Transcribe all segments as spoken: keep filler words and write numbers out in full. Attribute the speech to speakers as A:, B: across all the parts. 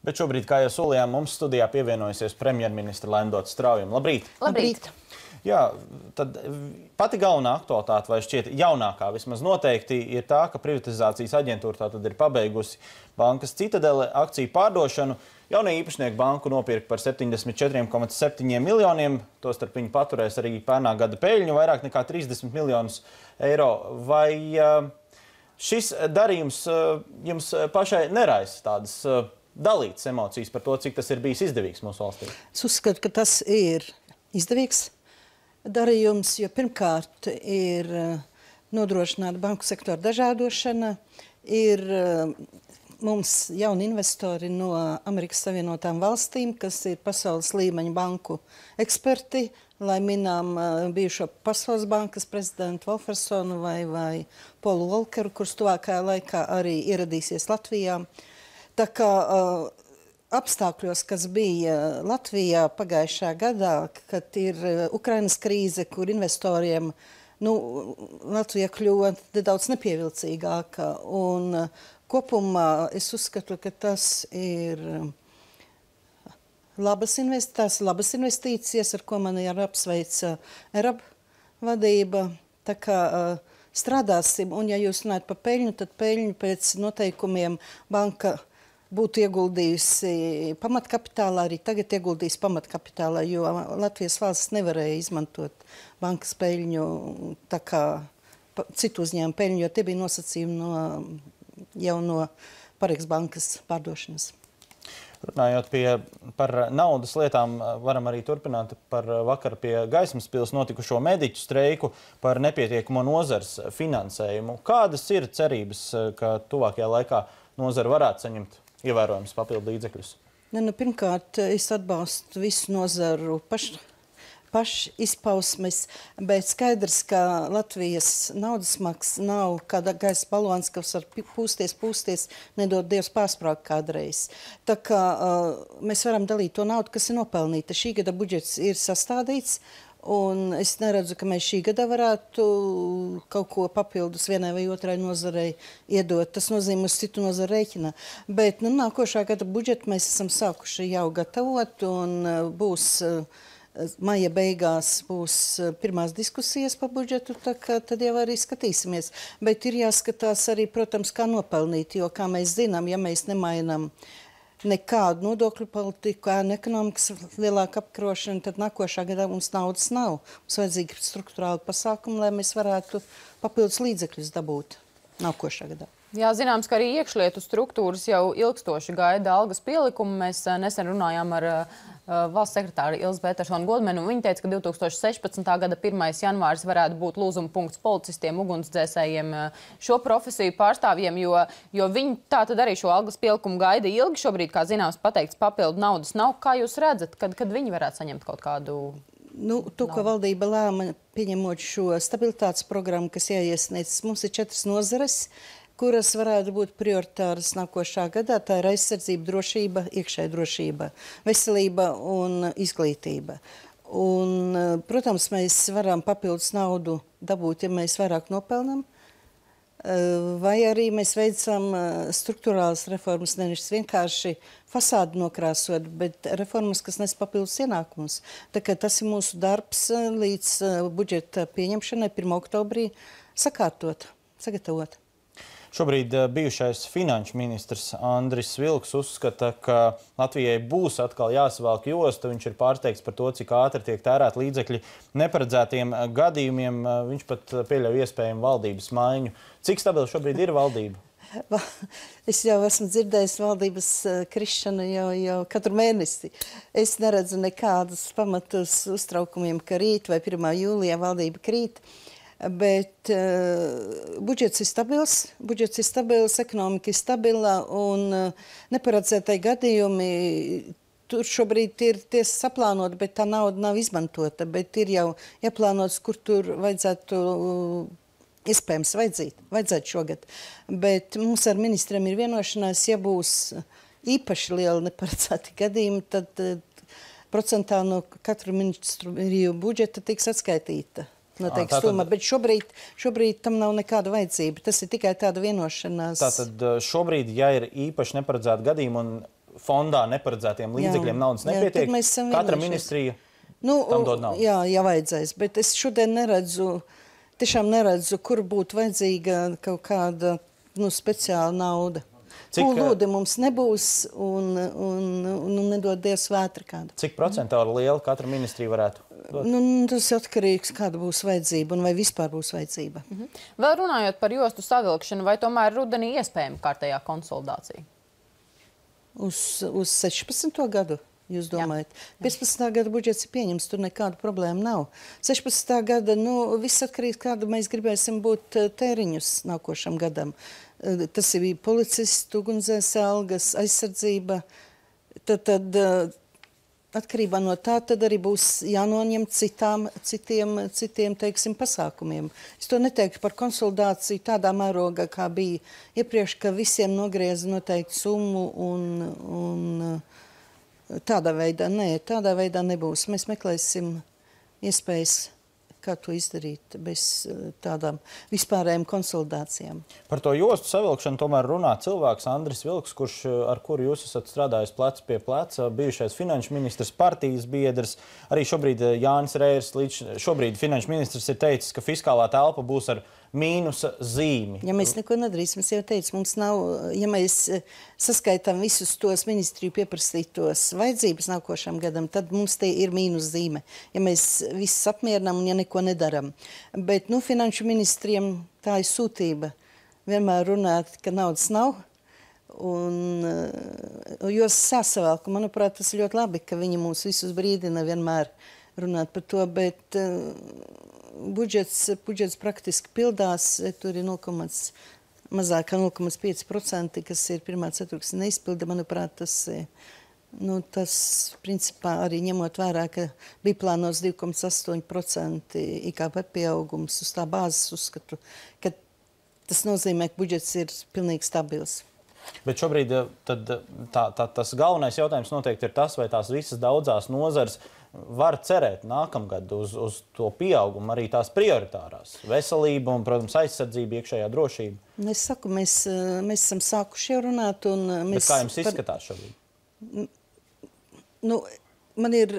A: Bet šobrīd, kā jau solījām, mums studijā pievienojusies premjerministra Laimdota Straujuma. Labrīt!
B: Labrīt!
A: Jā, tad pati galvenā aktualitāte, vai šķiet jaunākā vismaz noteikti, ir tā, ka privatizācijas aģentūra tātad ir pabeigusi bankas Citadele akciju pārdošanu. Jaunie īpašnieki banku nopirka par septiņdesmit četriem komats septiņiem miljoniem, tostarp viņi paturēs arī pērnā gada peļņu, vairāk nekā trīsdesmit miljonus eiro. Vai šis darījums jums pašai neraisa tādas dalītas emocijas par to, cik tas ir bijis izdevīgs mūsu valstī?
B: Es uzskatu, ka tas ir izdevīgs darījums, jo pirmkārt ir nodrošināta banku sektora dažādošana, ir mums jauni investori no Amerikas Savienotām valstīm, kas ir pasaules līmeņa banku eksperti, lai minām bijušo Pasaules bankas prezidentu Wolfersonu vai, vai Polu Volkeru, kurš tuvākajā laikā arī ieradīsies Latvijā. Tā kā apstākļos, kas bija Latvijā pagājušā gadā, kad ir Ukrainas krīze, kur investoriem nu, Latvija kļuva nedaudz nepievilcīgāka. Un kopumā es uzskatu, ka tas ir labas, invest labas investīcijas, ar ko man ir apsveica ERAB vadība. Tā kā strādāsim, un ja jūs runājat par peļņu, tad peļņu pēc noteikumiem banka būtu ieguldījusi pamatkapitālā, arī tagad ieguldījis pamatkapitālā, jo Latvijas valsts nevarēja izmantot bankas peļņu, tā kā citu uzņēmumu peļņu, jo tie bija nosacījumi no, jau no Parīgas bankas pārdošanas.
A: Runājot pie, par naudas lietām, varam arī turpināt par vakar pie Gaismas pils notikušo mediķu streiku par nepietiekamo nozars finansējumu. Kādas ir cerības, ka tuvākajā laikā nozara varētu saņemt ievērojams papildu līdzekļus?
B: Ne, nu, pirmkārt, es atbalstu visu nozaru pašu paši izpausmes, bet skaidrs, ka Latvijas naudas maks nav kāda gaisa balons, kas var pūsties, pūsties, nedod Dievs pārsprāgt kādreiz. Tā kā uh, mēs varam dalīt to naudu, kas ir nopelnīta. Šī gada budžets ir sastādīts, un es neredzu, ka mēs šī gada varētu kaut ko papildus vienai vai otrai nozarei iedot. Tas nozīmē uz citu nozaru rēķina. Bet nu, nākošā gada budžetu mēs esam sākuši jau gatavot, un uh, būs uh, maija beigās būs pirmās diskusijas par budžetu, tā kā tad jau arī skatīsimies. Bet ir jāskatās arī, protams, kā nopelnīt, jo, kā mēs zinām, ja mēs nemainām nekādu nodokļu politiku, ēnu ekonomikas lielāku apkarošanu, tad nākošā gadā mums naudas nav. Mums vajadzīgi struktūrāli pasākumi, lai mēs varētu papildus līdzekļus dabūt nākošā gadā.
C: Jā, zināms, ka arī iekšlietu struktūras jau ilgstoši gaida algas pielikumu. Mēs nesen runājām ar uh, valsts sekretāru Ilzi Petersonu Godmanu, un viņa teica, ka divi tūkstoši sešpadsmitā gada pirmais janvāris varētu būt lūzuma punkts policistiem, ugunsdzēsējiem, šo profesiju pārstāvjiem, jo, jo viņi tā tad arī šo algas pielikumu gaida ilgi. Šobrīd, kā zināms, pateikts papildu naudas nav. Kā jūs redzat, kad, kad viņi varētu saņemt kaut kādu?
B: Nu, to, ko valdība lēma, pieņemot šo stabilitātes programmu, kas jāiesniedz, mums ir četras nozares, kuras varētu būt prioritāras nākošā gadā. Tā ir aizsardzība, drošība, iekšēja drošība, veselība un izglītība. Un, protams, mēs varam papildus naudu dabūt, ja mēs vairāk nopelnam, vai arī mēs veicam struktūrālas reformas, nevis vienkārši fasādu nokrāsot, bet reformas, kas nes papildus ienākumus. Tā kā tas ir mūsu darbs līdz budžeta pieņemšanai pirmā oktobrī sakārtot, sagatavot.
A: Šobrīd bijušais finanšu ministrs Andris Vilks uzskata, ka Latvijai būs atkal jāsavalk josta. Viņš ir pārsteigts par to, cik ātri tiek tērēt līdzekļi neparedzētiem gadījumiem. Viņš pat pieļauj iespējamu valdības maiņu. Cik stabili šobrīd ir valdība?
B: Es jau esmu dzirdējis valdības krišanu jau, jau katru mēnesi. Es neredzu nekādus pamatus uztraukumiem, ka rīt vai pirmā jūlijā valdība krīt. Bet uh, budžets ir stabils, budžets ir stabils, ekonomika ir stabila, un uh, neparedzētai gadījumi tur šobrīd ir tiesa saplānot, bet tā nauda nav izmantota, bet ir jau jāplānots, kur tur vajadzētu, uh, iespējams, vajadzīt, vajadzētu šogad. Bet mums ar ministriem ir vienošanās, ja būs īpaši liela neparedzēti gadījumi, tad uh, procentā no katru ministru budžeta tiks atskaitīta. Noteikti
A: Tātad,
B: summa, bet šobrīd, šobrīd tam nav nekāda vajadzība. Tas ir tikai tāda vienošanās.
A: Tātad šobrīd, ja ir īpaši neparedzēti gadījumi un fondā neparedzētiem līdzekļiem naudas nepietiek. Katra ministrija
B: nu,
A: tam dod naudu.
B: Jā, jā, vajadzēs, bet es šodien neredzu, tiešām neredzu, kur būtu vajadzīga kaut kāda nu, speciāla nauda. Pūlūdi mums nebūs un, un, un, un nedod Dievs vētra kāda.
A: Cik procentāli liela katra ministrija varētu dot?
B: Nu, tas atkarīgs, kāda būs vajadzība un vai vispār būs vajadzība.
C: Mhm. Vēl runājot par jostu savilkšanu, vai tomēr rudenī iespējama kārtējā konsolidācija?
B: Uz, uz sešpadsmito gadu, jūs domājat? Jā. piecpadsmitā gada budžets ir pieņems, tur nekāda problēma nav. sešpadsmitā gada, nu, viss atkarīgs, kādu mēs gribēsim būt tēriņus nākošam gadam. Tas ir policistu, ugunsdzēs algas, aizsardzība. Tad, tad atkarībā no tā tad arī būs jānoņem citām, citiem, citiem, teiksim, pasākumiem. Es to neteiktu par konsolidāciju tādā mērogā, kā bija iepriekš, ka visiem nogrieza noteikti summu un, un tādā veidā. Nē, tādā veidā nebūs. Mēs meklēsim iespējas, kā to izdarīt bez tādām vispārējām konsolidācijām.
A: Par to jostu savilkšanu tomēr runā cilvēks Andris Vilks, kurš, ar kuru jūs esat strādājis plec pie pleca, bijušais finanšu ministrs, partijas biedrs. Arī šobrīd Jānis Reirs, līdz šobrīd finanšu ministrs, ir teicis, ka fiskālā telpa būs ar mīnusa zīmi.
B: Ja mēs neko nedarīsim, es jau teicu, mums nav, ja mēs saskaitām visus tos ministriju pieprasītos vajadzības nākošam gadam, tad mums te ir mīnus zīme. Ja mēs visus apmierinām un ja neko nedaram. Bet, nu, finanšu ministriem tā ir sūtība vienmēr runāt, ka naudas nav. Un, jo sāsavēl, ka, manuprāt, tas ir ļoti labi, ka viņi mūs visus brīdina vienmēr runāt par to, bet budžets, budžets praktiski pildās, tur ir nulle komma pieci mazāk kā nulle komma pieci procenti, kas ir pirmā ceturksņa neizpilda. Manuprāt, tas, nu, tas principā arī ņemot vērā, ka bija plānots divi komma astoņi procenti I K P pieaugums uz tā bāzes uzskatu, ka tas nozīmē, ka budžets ir pilnīgi stabils.
A: Bet šobrīd tad, tā, tā, tas galvenais jautājums noteikti ir tas, vai tās visas daudzās nozars var cerēt nākamgad uz, uz to pieaugumu, arī tās prioritārās. Veselība un, protams, aizsardzība, iekšējā drošība.
B: Es saku, mēs, mēs esam sākuši jau runāt. Un mēs
A: Bet kā jums izskatās šobrīd?
B: Nu, man ir,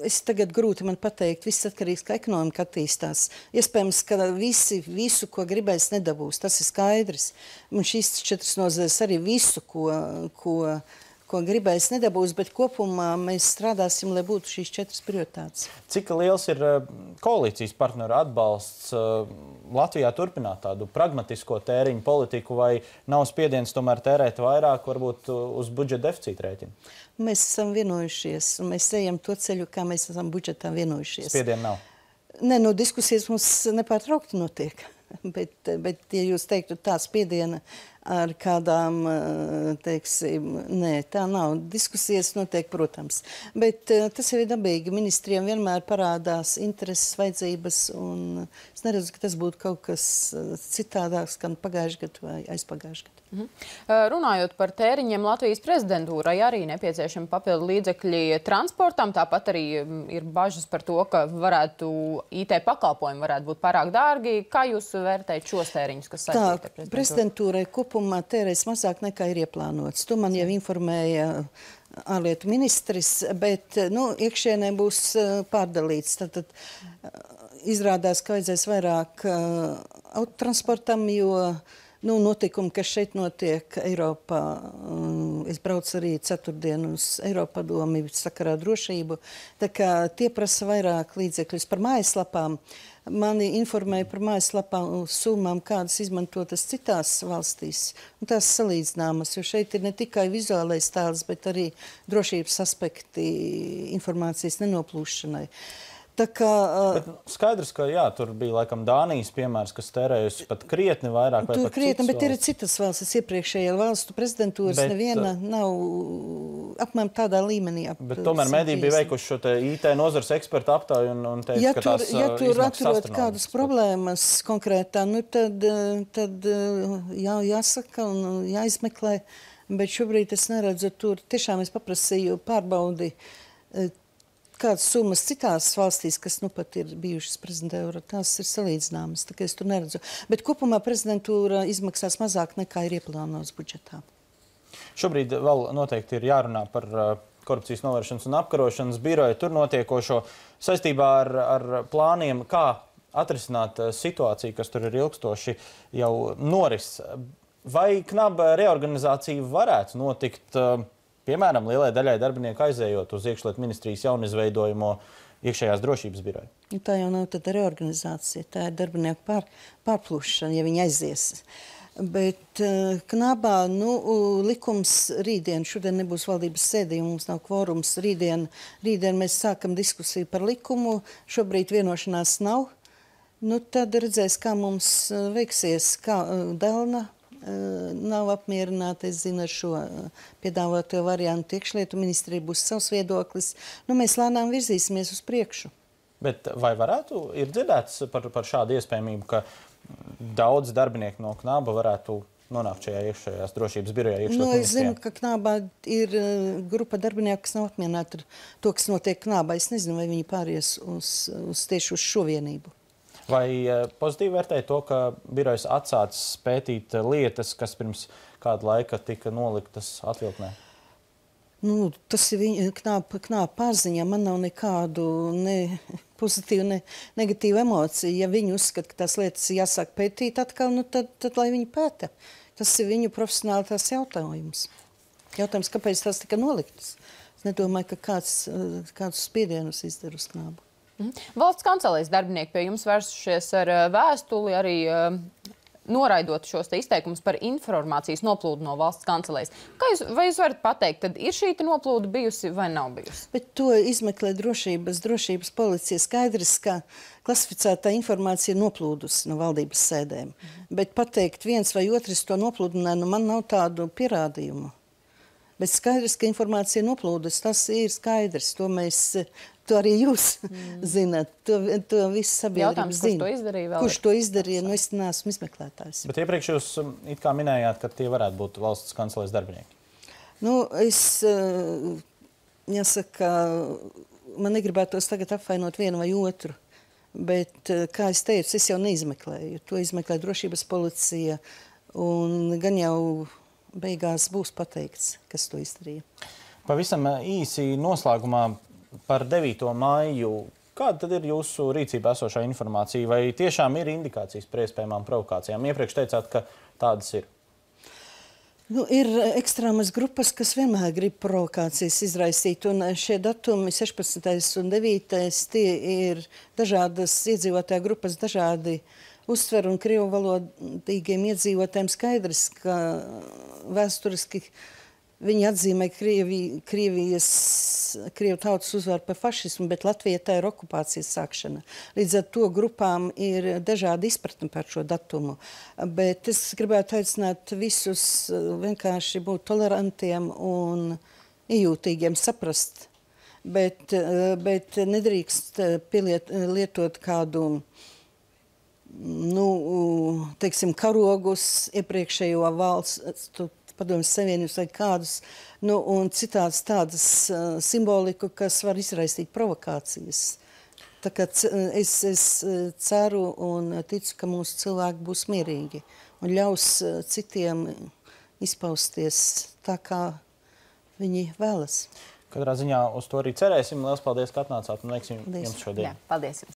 B: es tagad grūti man pateikt, viss atkarīgs, kā ekonomika attīstās. Iespējams, ka visi, visu, ko gribēs, nedabūs. Tas ir skaidrs. Un šīs četras nozares arī visu, ko, ko ko gribēs nedabūs, bet kopumā mēs strādāsim, lai būtu šīs četras prioritātes.
A: Cik liels ir koalīcijas partneru atbalsts Latvijā turpināt tādu pragmatisko tēriņu politiku, vai nav spiediens tomēr tērēt vairāk, varbūt uz budžeta deficīta rēķina?
B: Mēs esam vienojušies, un mēs ejam to ceļu, kā mēs esam budžetā vienojušies.
A: Spiediena nav?
B: Nē, nu, diskusijas mums nepārtraukti notiek. Bet, bet, ja jūs teiktu tā spiediena ar kādām, teiksim, nē, tā nav. Diskusijas notiek, protams. Bet tas jau ir dabīgi. Ministriem vienmēr parādās intereses, vajadzības, un es neredzu, ka tas būtu kaut kas citādāks, kā pagājušajā gadā vai aizpagājušajā gadā.
C: Mhm. Runājot par tēriņiem, Latvijas prezidentūrai arī nepieciešami papildu līdzekļi transportam. Tāpat arī ir bažas par to, ka varētu I T pakalpojumi varētu būt pārāk dārgi. Kā jūs vērtējat šos tēriņus, kas saistīti ar prezidentūru?
B: Tā, prezidentūrai kopumā tērēs mazāk nekā ir ieplānots. To man jau informēja ārlietu ministrs, bet, nu, iekšienē būs pārdalīts. Tad, tad izrādās, ka vajadzēs vairāk autotransportam, jo Nu, notikumi, kas šeit notiek Eiropā, es braucu arī ceturtdien uz Eiropadomi sakarā drošību, tā kā tie prasa vairāk līdzekļus par mājaslapām. Mani informēja par mājaslapām summām, kādas izmantotas citās valstīs, un tās salīdzināmas, jo šeit ir ne tikai vizuālais tēls, bet arī drošības aspekti informācijas nenoplūšanai. Tā kā,
A: bet skaidrs, ka jā, tur bija laikam Dānijas piemērs, kas tērējusi pat krietni vairāk vai
B: tur
A: pat
B: krietni, bet
A: valsts.
B: Ir citas valstis, iepriekšējā valstu prezidentūras bet, neviena nav apmēram tādā līmenī. Ap,
A: bet tomēr mediji bija veikuši šo te I T nozars ekspertu aptauju un, un teica,
B: ja
A: ka
B: tur,
A: tās
B: ja tur atrod kādas
A: bet...
B: problēmas konkrētā, nu tad, tad jā, jāsaka un jāizmeklē, bet šobrīd es neredzu tur. Tiešām es paprasīju pārbaudi kādas summas citās valstīs, kas nu pat ir bijušas prezidentūra, tās ir salīdzināmas, tā kā es tur neredzu. Bet kopumā prezidentūra izmaksās mazāk nekā ir ieplānots budžetā.
A: Šobrīd vēl noteikti ir jārunā par korupcijas novēršanas un apkarošanas biroju tur notiekošo saistībā ar, ar plāniem, kā atrisināt situāciju, kas tur ir ilgstoši jau noris. Vai knaba reorganizācija varētu notikt, piemēram, lielai daļai darbinieku aizējot uz iekšlietu ministrijas jaunizveidojamo iekšējās drošības biroju?
B: Tā jau nav tāda reorganizācija, tā ir darbinieku pār, pārplūšana, ja viņi aizies. Bet uh, knabā, nu, likums rītdien, šodien nebūs valdības sēdī, mums nav kvorums, rītdien, rītdien mēs sākam diskusiju par likumu, šobrīd vienošanās nav. Nu, tad redzēs, kā mums veiksies, kā uh, Delna nav apmierināta, es zinu, ar šo piedāvāto variantu. Iekšlietu ministrija būs savs viedoklis. Nu, mēs lēnām virzīsimies uz priekšu.
A: Bet vai varētu, ir dzirdēts par, par šādu iespējamību, ka daudz darbinieku no knaba varētu nonākt šajā iekšējās drošības birojā?
B: Nu, es zinu, ka knabā ir grupa darbinieku, kas nav apmierināti ar to, kas notiek knabā. Es nezinu, vai viņi pāries uz, uz tieši uz šo vienību.
A: Vai pozitīvi vērtēja to, ka birojas atsācis pētīt lietas, kas pirms kāda laika tika noliktas atvilknē?
B: Nu, tas ir viņa knāpa, knāpa pārziņā. Man nav nekādu ne pozitīvu, ne negatīvu emociju. Ja viņi uzskata, ka tās lietas jāsāk pētīt atkal, nu tad, tad lai viņi pēta. Tas ir viņu profesionāli tās jautājums. Jautājums, kāpēc tās tika noliktas? Es nedomāju, ka kāds, kādus spiedienus izdara uz knābu.
C: Mhm. Valsts kancelēs darbinieki pie jums vērsušies ar vēstuli, arī uh, noraidot šos te izteikumus par informācijas noplūdu no valsts kancelēs. Kā jūs, vai jūs varat pateikt, tad ir šī noplūda bijusi vai nav bijusi?
B: Bet to izmeklē drošības, drošības policija. Skaidrs, ka klasificētā informācija ir noplūdusi no valdības sēdēm. Mhm. Bet pateikt viens vai otrs to noplūdināja, nu man nav tādu pierādījumu. Bet skaidrs, ka informācija ir noplūdusi, tas ir skaidrs. To mēs, to arī jūs mm. zināt. To, to viss sabiedrība zina.
C: Kurš to izdarīja vēl?
B: Kurš to izdarīja? Nu, es neesmu izmeklētājs.
A: Bet iepriekš jūs it kā minējāt, ka tie varētu būt valsts kancelēs darbinieki.
B: Nu, es, jāsaka, man negribētos tagad apvainot vienu vai otru. Bet, kā es teicu, es jau neizmeklēju. To izmeklē drošības policija un gan jau beigās būs pateikts, kas to izdarīja.
A: Pavisam īsi noslēgumā par devīto maiju. Kāda tad ir jūsu rīcībā esošā informācija? Vai tiešām ir indikācijas par iespējamām provokācijām? Iepriekš teicāt, ka tādas ir.
B: Nu, ir ekstrēmas grupas, kas vienmēr grib provokācijas izraisīt. Un šie datumi, sešpadsmitais un devītais, tie ir dažādas iedzīvotāju grupas, dažādi uztver un krievu valodīgiem iedzīvotājiem skaidrs, ka vēsturiski viņi atzīmē Krievi, Krievijas, Krievu tautas uzvaru par fašismu, bet Latvija tā ir okupācijas sākšana. Līdz ar to grupām ir dažādi izpratni par šo datumu. Bet es gribētu aicināt visus vienkārši būt tolerantiem un iejūtīgiem, saprast. Bet, bet nedrīkst pieliet, lietot kādu nu, teiksim, karogus iepriekšējo valsts, padomjas Savienības vai kādus, nu, un citāds tādas uh, simboliku, kas var izraisīt provokācijas. Tā kā es, es ceru un ticu, ka mūsu cilvēki būs mierīgi un ļaus uh, citiem izpausties tā, kā viņi vēlas.
A: Katrā ziņā uz to arī cerēsim. Lielas paldies, ka atnācāt un veiksim jums šodien.
C: Jā, paldies jums.